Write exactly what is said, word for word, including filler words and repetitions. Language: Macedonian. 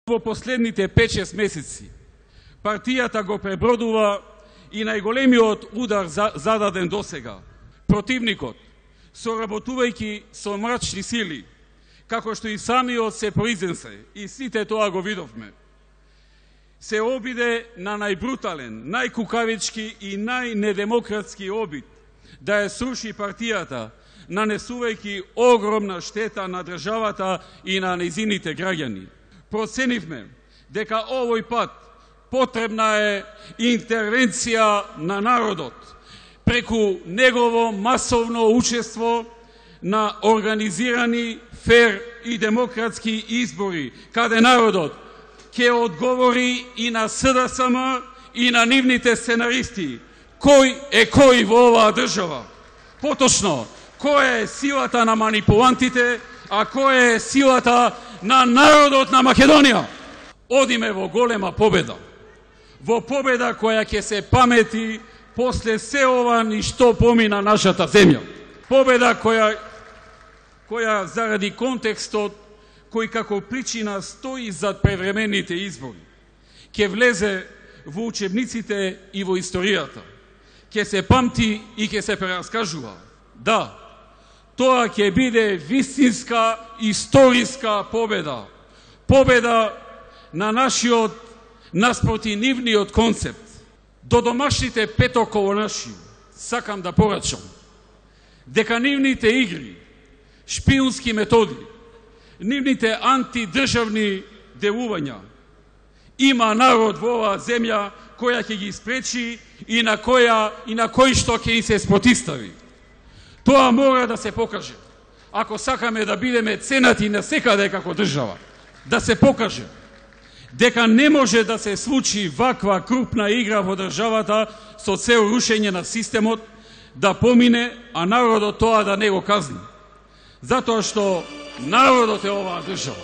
Во последните пет-шест месеци партијата го пребродува и најголемиот удар зададен досега. Противникот, соработувајќи со мрачни сили, како што и самиот се произнесе, и сите тоа го видовме, се обиде на најбрутален, најкукавички и најнедемократски обид да ја сруши партијата, нанесувајќи огромна штета на државата и на нејзините граѓани. Проценивме дека овој пат потребна е интервенција на народот преку негово масовно учество на организирани, фер и демократски избори, каде народот ќе одговори и на С Д С М и на нивните сценаристи кој е кој во оваа држава. Поточно, која е силата на манипулантите, а која е силата на народот на Македонија. Одиме во голема победа. Во победа која ќе се памети после се ова ни што помина нашата земја. Победа која, која заради контекстот кој како причина стои зад превремените избори, ќе влезе во учебниците и во историјата. Ќе се памти и ќе се прераскажува. Да, тоа ќе биде вистинска историска победа. Победа на нашиот, наспроти нивниот концепт. До домашните петоколонаши сакам да порачам дека нивните игри, шпиунски методи, нивните антидржавни делувања, има народ во оваа земја која ќе ги спречи и на која и на кој што ќе и се спротивстави. Тоа мора да се покаже. Ако сакаме да бидеме ценати насекаде како држава, да се покаже дека не може да се случи ваква крупна игра во државата со цел рушење на системот, да помине, а народот тоа да не го казни. Затоа што народот е оваа држава.